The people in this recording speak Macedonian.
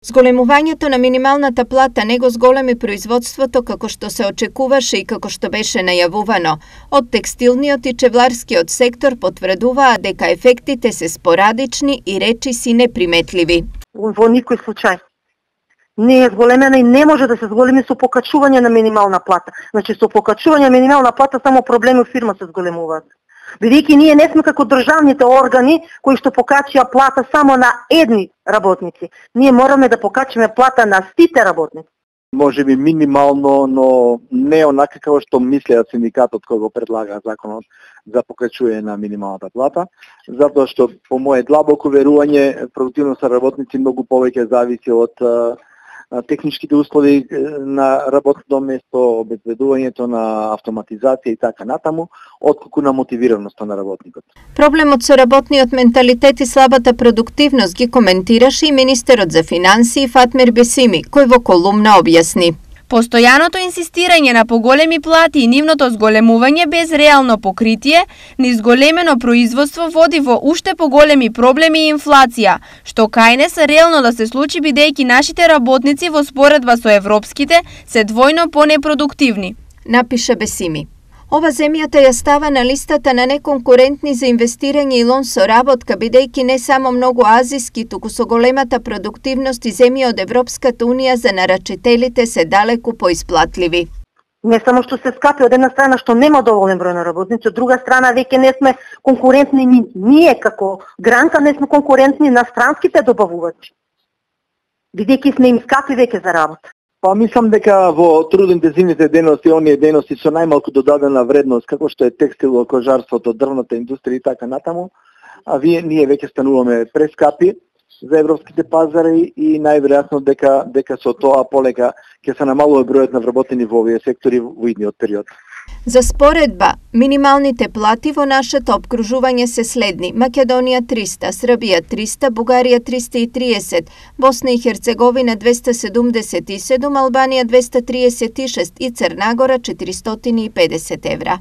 Зголемувањето на минималната плата не го зголеми производството како што се очекуваше и како што беше најавувано. Од текстилниот и чевларскиот сектор потврдуваа дека ефектите се спорадични и речиси неприметливи. Во никој случај не е зголемена и не може да се зголеми со покачување на минимална плата. Значи со покачување на минимална плата само проблеми во фирма се зголемуваат. Бидејќи ние не сме како државните органи кои што покачија плата само на едни работници. Ние мораме да покачиме плата на сите работници. Може би минимално, но не онака како што мислеа синдикатот кој го предлага законот за покачување на минималната плата, затоа што по мое длабоко верување продуктивноста на работници многу повеќе зависи од техничките услови на работното место, обезбедувањето на автоматизација и така натаму, отколку на мотивираноста на работникот. Проблемот со работниот менталитет и слабата продуктивност ги коментираше и министерот за финансии Фатмир Бесими, кој во колумна објасни. Постојаното инсистирање на поголеми плати и нивното зголемување без реално покритие на изголемено производство води во уште поголеми проблеми и инфлација, што кај не се реално да се случи бидејќи нашите работници во споредба со европските се двојно понепродуктивни, напиша Бесими. Ова земјата ја става на листата на неконкурентни за инвестирање и лон со работка, бидејќи не само многу азиски, туку со големата продуктивност и земји од Европската унија за нарачителите се далеку поисплатливи. Не само што се скапи од една страна што нема доволен број на работници, од друга страна веќе не сме конкурентни ние како гранка, не сме конкурентни на странските добавувачи. Бидејќи сме им скапи веќе за работа. Па мислам дека во трудоинтензивните дејности, оние дејности со најмалку додадена вредност, како што е текстило, кожарството, дрвната индустрија и така натаму, а ние веќе стануваме прескапи за европските пазари и најверојатно дека со тоа полека ќе се намалува бројот на вработени во овие сектори во идниот период. За споредба, минималните плати во нашето опкружување се следни: Македонија 300, Србија 300, Бугарија 330, Босна и Херцеговина 277, Албанија 236 и Црна Гора 450 евра.